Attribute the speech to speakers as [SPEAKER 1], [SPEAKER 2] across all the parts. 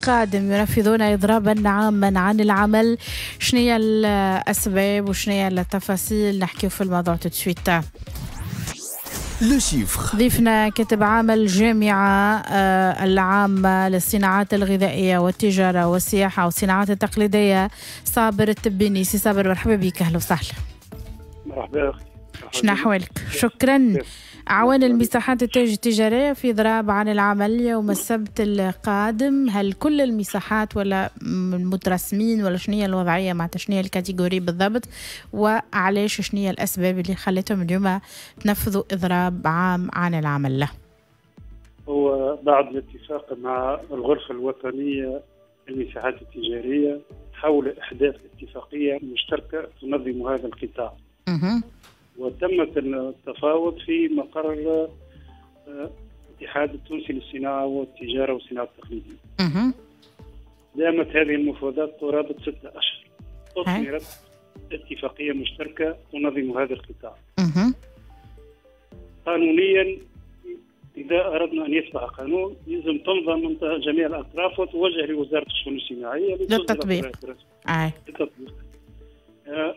[SPEAKER 1] القادم ينفذون إضرابا عاما عن العمل. شنو هي الأسباب وشنو هي التفاصيل؟ نحكيو في الموضوع tout de suite.
[SPEAKER 2] le chiffre.
[SPEAKER 1] ضيفنا كاتب عام الجامعة العامة للصناعات الغذائية والتجارة والسياحة والصناعات التقليدية صابر التبيني. سي صابر، مرحبا بك، أهلا وسهلا.
[SPEAKER 3] مرحبا أختي.
[SPEAKER 1] شنو أحوالك؟ شكرا. أعوان المساحات التجارية في إضراب عن العمل يوم السبت القادم، هل كل المساحات ولا المترسمين ولا شنو هي الوضعية؟ معناتها شنو هي ال catégorie بالضبط، وعلاش، شنو هي الأسباب اللي خلتهم اليوم تنفذوا إضراب عام عن العمل؟ له
[SPEAKER 3] هو بعد الاتفاق مع الغرفة الوطنية للمساحات التجارية حول إحداث اتفاقية مشتركة تنظم هذا القطاع، وتمت التفاوض في مقر الاتحاد التونسي للصناعة والتجارة والصناعة التقليدية. دامت هذه المفاوضات قرابة 6 أشهر. أثمرت اتفاقية مشتركة تنظم هذا القطاع. قانونيا، إذا أردنا أن يصبح قانون يلزم تمضى من جميع الأطراف وتوجه لوزارة الشؤون الاجتماعية
[SPEAKER 1] للتطبيق.
[SPEAKER 3] للتطبيق.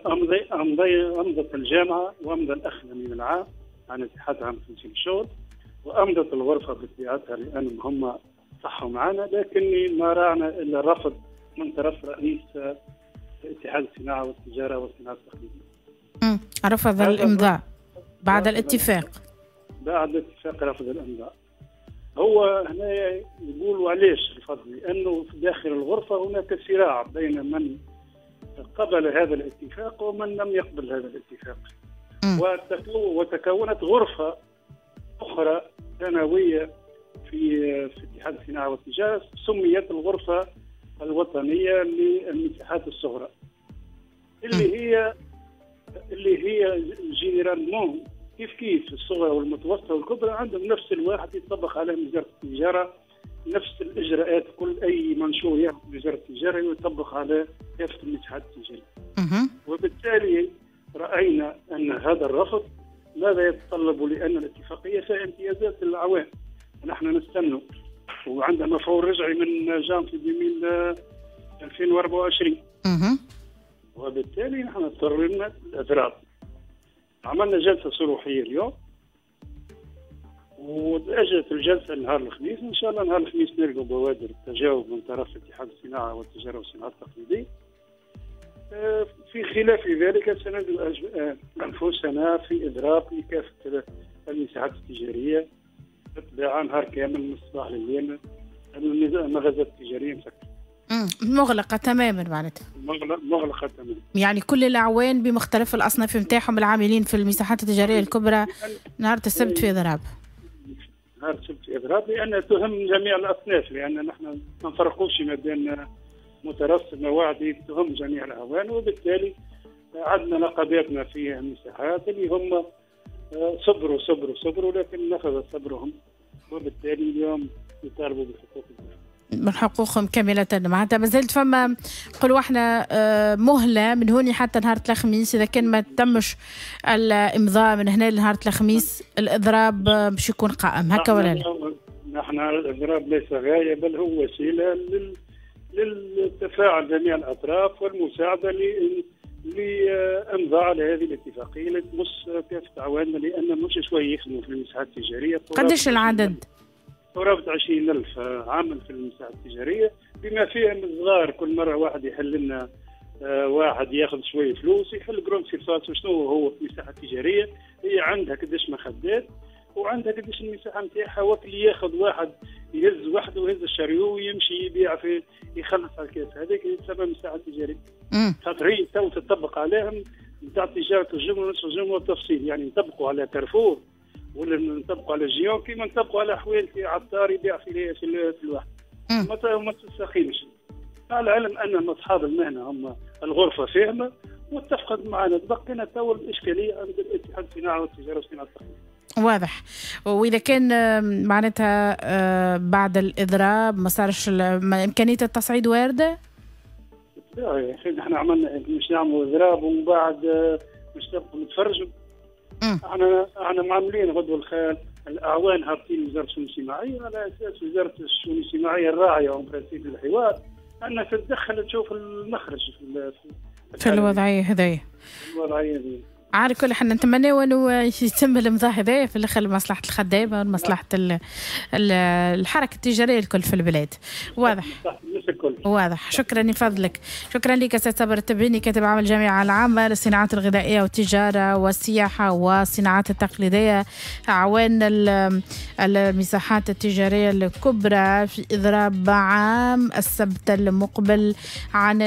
[SPEAKER 3] أمضي أمضي أمضت الجامعة وأمضى الأخ الأمين العام عن الاتحاد العام التونسي للشغل وأمضت الغرفة بطبيعتها، لأنهم هم صحوا معنا، لكن ما راعنا إلا رفض من طرف رئيس اتحاد الصناعة والتجارة والصناعة التقليدية.
[SPEAKER 1] رفض الإمضاء بعد الاتفاق.
[SPEAKER 3] بعد الاتفاق رفض الإمضاء. هو هنا يقولوا علاش رفض؟ لأنه في داخل الغرفة هناك صراع بين من قبل هذا الاتفاق ومن لم يقبل هذا الاتفاق، وتكونت غرفة أخرى ثانوية في اتحاد الصناعة والتجارة سميت الغرفة الوطنية للمساحات الصغرى، اللي هي généralement كيف كيف، الصغرى والمتوسطة والكبرى عندهم نفس الواحد، يطبق عليهم وزارة التجارة نفس الاجراءات. كل اي منشور ياخذ وزارة التجارة يطبق على كافة المساحات التجاريه. وبالتالي راينا ان هذا الرفض ماذا يتطلب؟ لان الاتفاقية فيها امتيازات للاعوان، ونحن نستنى وعندها مفعول رجعي من جانفي 2024. وبالتالي نحن اضطررنا الاضراب. عملنا جلسه صروحيه اليوم وتأجلت الجلسة نهار الخميس. إن شاء الله نهار الخميس نلقوا بوادر التجاوب من طرف اتحاد الصناعة والتجارة والصناعة التقليدية. في خلاف ذلك سنجد أنفسنا في إضراب لكافة المساحات التجارية بالطبيعة، نهار كامل من الصباح لليل المغازات التجارية مسكرة.
[SPEAKER 1] مغلقة تماما معناتها.
[SPEAKER 3] مغلقة تماما.
[SPEAKER 1] يعني كل الأعوان بمختلف الأصناف نتاعهم العاملين في المساحات التجارية الكبرى نهار السبت في إضراب.
[SPEAKER 3] نهار السبت في إضراب، لأن تهم جميع الأصناف، لأن نحن ما نفرقوش ما بين مترسم وعدي، تهم جميع الأعوان. وبالتالي عندنا نقاباتنا في المساحات اللي هم صبروا صبروا صبروا، لكن نفذ صبرهم، وبالتالي اليوم يطالبوا بحقوقهم.
[SPEAKER 1] من حقوقهم كاملة. معناتها مازالت فما، نقولوا احنا، مهلة من هوني حتى نهار الخميس، إذا كان ما تمش الإمضاء من هنا لنهار الخميس الإضراب باش يكون قائم، هكا ولا لا؟
[SPEAKER 3] نحن الإضراب ليس غاية بل هو وسيلة للتفاعل جميع الأطراف والمساعدة لإمضاء على هذه الاتفاقية اللي تمس كافة أعواننا، لأن مش شوية يخدموا في المساحات التجارية.
[SPEAKER 1] قداش العدد؟
[SPEAKER 3] قرابة 20,000 عامل في المساحة التجارية، بما فيهم الصغار. كل مرة واحد يحل لنا واحد ياخذ شوية فلوس يحل grande surface. وشنو هو في المساحة التجارية؟ هي عندها قداش مخدات وعندها قداش المساحة نتاعها، وقت اللي ياخذ واحد يهز وحده ويهز ال chariot ويمشي يبيع في يخلص على ال caisse، هذاك يتسمى مساحة تجارية. خاطر هي تو تطبق عليهم نتاع تجارة الجملة ونصف الجملة والتفصيل، يعني نطبقوا على كارفور ولا نطبقوا على Géant كيما نطبقوا على حوانت عطار يبيع في الواحد، ما تستقيمش. مع العلم ان اصحاب المهنة هم الغرفة فاهمه واتفقت معنا، تبقينا تو الاشكالية عند الاتحاد الصناعة والتجارة والصناعة التقليدية.
[SPEAKER 1] واضح. واذا كان معناتها بعد الاضراب ما صارش، امكانية التصعيد وارده؟
[SPEAKER 3] لا يا اخي، نحن عملنا مش نعملوا اضراب ومن بعد مش نبقوا نتفرجوا. احنا معاملين غدوه الاعوان هابطين وزارة الشؤون الاجتماعية، على اساس وزارة الشؤون الاجتماعية الراعيه en principe الحوار انها تتدخل تشوف المخرج
[SPEAKER 1] في الوضعية هذيا.
[SPEAKER 3] الوضعية هذه.
[SPEAKER 1] على كل حال نتمنى انه يتم الامضاء هذايا في الاخر لمصلحة الخدامة ومصلحه الحركة التجارية الكل في البلاد. واضح. واضح. شكرا لفضلك. شكرا لك استاذ صابر التبيني، كاتب عام الجامعة العامة للصناعات الغذائية والتجارة والسياحة والصناعات التقليدية، اعوان المساحات التجارية الكبرى في اضراب عام السبت المقبل عن